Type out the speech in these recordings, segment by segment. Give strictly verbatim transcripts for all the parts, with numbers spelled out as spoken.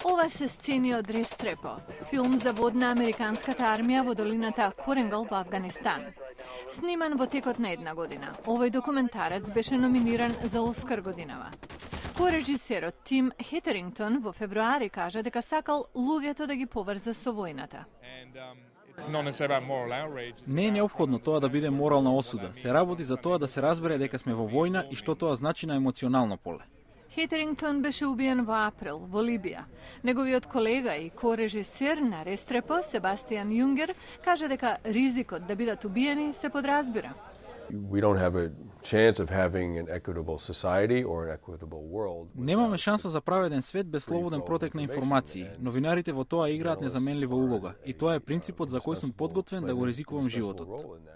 Ова се сцени од Рестрепо, филм за водна американската армија во долината Коренгал во Авганистан. Сниман во текот на една година, овој документарец беше номиниран за Оскар годинава. Корежисерот Тим Хетерингтон во февруари кажа дека сакал луѓето да ги поврза со војната. Не е неопходно тоа да биде морална осуда. Се работи за тоа да се разбере дека сме во војна и што тоа значи на емоционално поле. Хетерингтон беше убиен во април во Либија. Неговиот колега и корежисер на Рестрепо, Себастијан Јунгер, кажа дека ризикот да бидат убиени се подразбира. We don't have a chance of having an equitable society or an equitable world. Немаме шанса за праведен свет без слободен протек на информации. Новинарите во тоа играат незаменлива улога и тоа е принципот за кој сум подготвен да го ризикувам животот.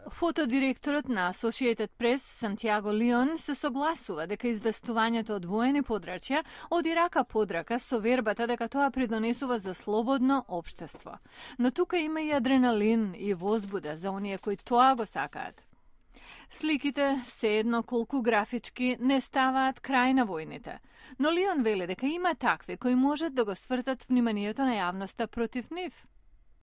Фотодиректорот на Associated Press Сантјаго Лион се согласува дека известувањето од воени подрачја оди рака под рака со вербата дека тоа придонесува за слободно општество. Но тука има и адреналин и возбуда за оние кои тоа го сакаат. Сликите, се едно колку графички, не ставаат крај на војните. Но Лион вели дека има такви кои можат да го свртат вниманието на јавноста против нив.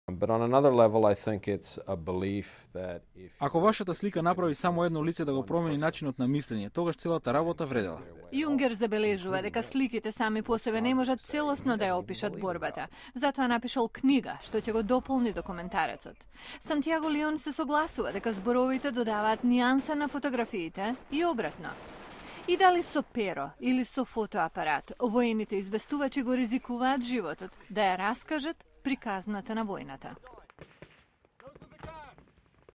But on another level, I think it's a belief that if Ако вашата слика направи само едно лице да го промени начинот на мислење, тогаш целата работа вредела. Јунгер забележува дека сликите сами по себе не можат целосно да ја опишат борбата. Затоа напишал книга што ќе го дополни документарецот. Сантјаго Лион се согласува дека зборовите додаваат нијанса на фотографиите и обратно. И дали со перо или со фотоапарат, воените известувачи го ризикуваат животот да ја раскажат приказната на војната.